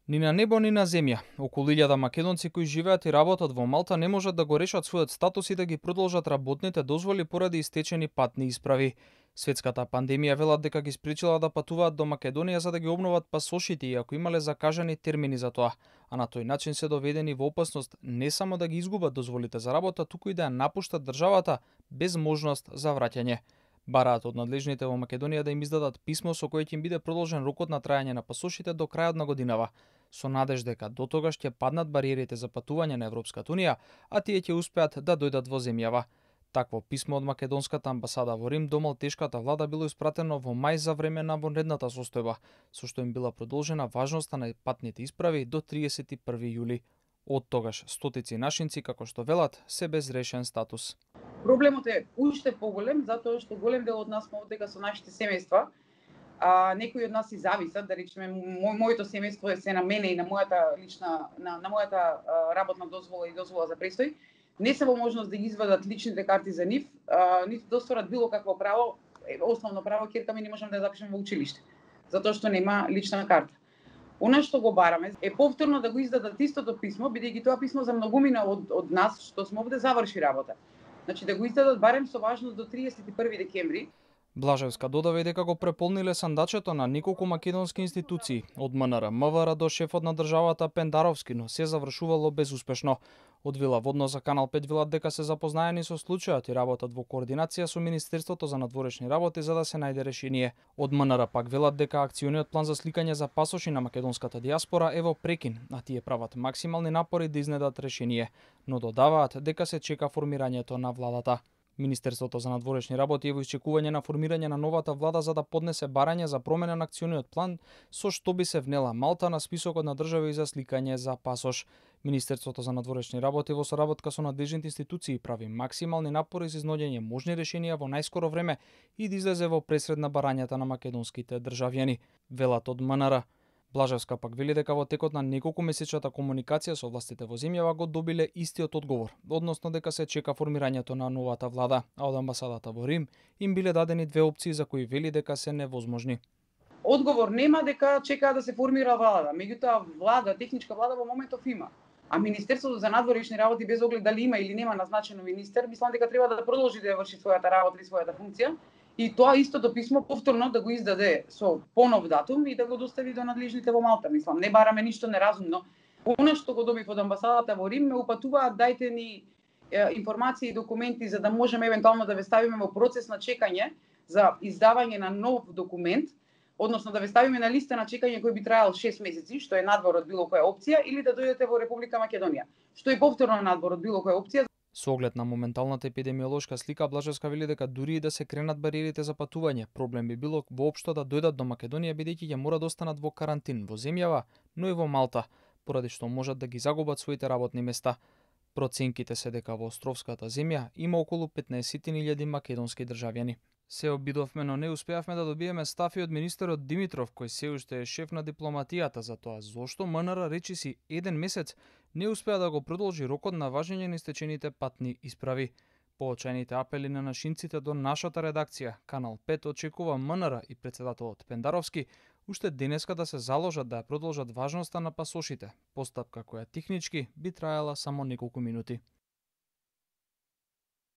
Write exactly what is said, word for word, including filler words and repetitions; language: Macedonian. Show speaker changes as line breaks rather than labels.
Ни на небо, ни на земја. Околу илјада македонци кои живеат и работат во Малта не можат да го решат својот статус и да ги продолжат работните дозволи поради истечени патни исправи. Светската пандемија велат дека ги спречила да патуваат до Македонија за да ги обноват пасошите иако имале закажани термини за тоа, а на тој начин се доведени во опасност не само да ги изгубат дозволите за работа, туку и да ја напуштат државата без можност за враќање. Бараат од надлежните во Македонија да им издадат писмо со кое ќе им биде продолжен рокот на трајање на пасошите до крајот на годинава, со надеж дека до тогаш ќе паднат бариерите за патување на Европската унија, а тие ќе успеат да дојдат во земјава. Такво писмо од македонската амбасада во Рим до малтешката влада било испратено во мај за време на вонредната состојба, со што им била продолжена важноста на патните исправи до триесет и први јули. Од тогаш стотици нашинци, како што велат, се без решен статус.
Проблемот е уште поголем, затоа што голем дел од нас сме одека со нашите семејства. А, некои од нас и зависат, да речеме, мо, моето семејство е се на мене и на мојата лична, на, на мојата а, работна дозвола и дозвола за престој. Не се во можност да ги извадат личните карти за нив, а, ниту да остварат било какво право, основно право, ќерка ми не можам да ја запишеме во училиште, затоа што нема лична карта. Она што го бараме е повторно да го издадат истото писмо, бидејќи тоа писмо за многумина од, од нас што сме овде заврши работа. Значи да го издадат барем со важност до триесет и први декември.
Блажевска додава и дека го преполниле сандачето на неколку македонски институции, од МНР, МВР до шефот на државата Пендаровски, но се завршувало безуспешно. Од Вила Водно за Канал пет велат дека се запознаени со случајот и работат во координација со Министерството за надворешни работи за да се најде решение. Од МНР пак велат дека акциониот план за сликање за пасоши на македонската диаспора е во прекин, а тие прават максимални напори да изнедат решение, но додаваат дека се чека формирањето на владата. Министерството за надворешни работи е во исчекување на формирање на новата влада за да поднесе барање за промена на акциониот план со што би се внела Малта на списокот на држави за сликање за пасош. Министерството за надворешни работи во соработка со надлежните институции прави максимални напори за изнаоѓање можни решенија во најскоро време и да излезе во пресред на барањата на македонските државјани, велат од МНР. Блажевска пак вели дека во текот на неколку месечната комуникација со властите во земјава го добиле истиот одговор, односно дека се чека формирањето на новата влада, а од амбасадата во Рим им биле дадени две опции за кои вели дека се невозможни.
Одговор нема дека чекаа да се формира влада, меѓутоа влада, техничка влада во моментов има. А Министерството за надворешни работи без оглед дали има или нема назначено министер, мислам дека треба да продолжи да ја врши својата работа и својата функција. И тоа истото писмо повторно да го издаде со понов датум и да го достави до надлежните во Малта. Мислам, не бараме ништо неразумно. Она што го добив од амбасадата во Рим ме упатуваат, дајте ни е, информации и документи за да можеме евентуално да ве ставиме во процес на чекање за издавање на нов документ, односно да ве ставиме на листа на чекање кој би траел шест месеци, што е надвор од било која опција, или да дојдете во Република Македонија, што е повторно надвор од било која опција.
Со оглед на моменталната епидемиолошка слика, Блажевска вели дека дури и да се кренат бариерите за патување, проблем би било воопшто да дојдат до Македонија бидејќи ќе мора да останат во карантин во земјава, но и во Малта, поради што можат да ги загубат своите работни места. Проценките се дека во островската земја има околу петнаесет илјади македонски државјани. Се обидовме, но не успеавме да добиеме став и од министерот Димитров, кој се уште е шеф на дипломатијата, за тоа зошто МНР речиси еден месец не успеа да го продолжи рокот на важење на истечените патни исправи. Поочајните апели на нашинците до нашата редакција, Канал пет очекува МНР и претседателот Пендаровски уште денеска да се заложат да ја продолжат важноста на пасошите, постапка која технички би траела само неколку минути.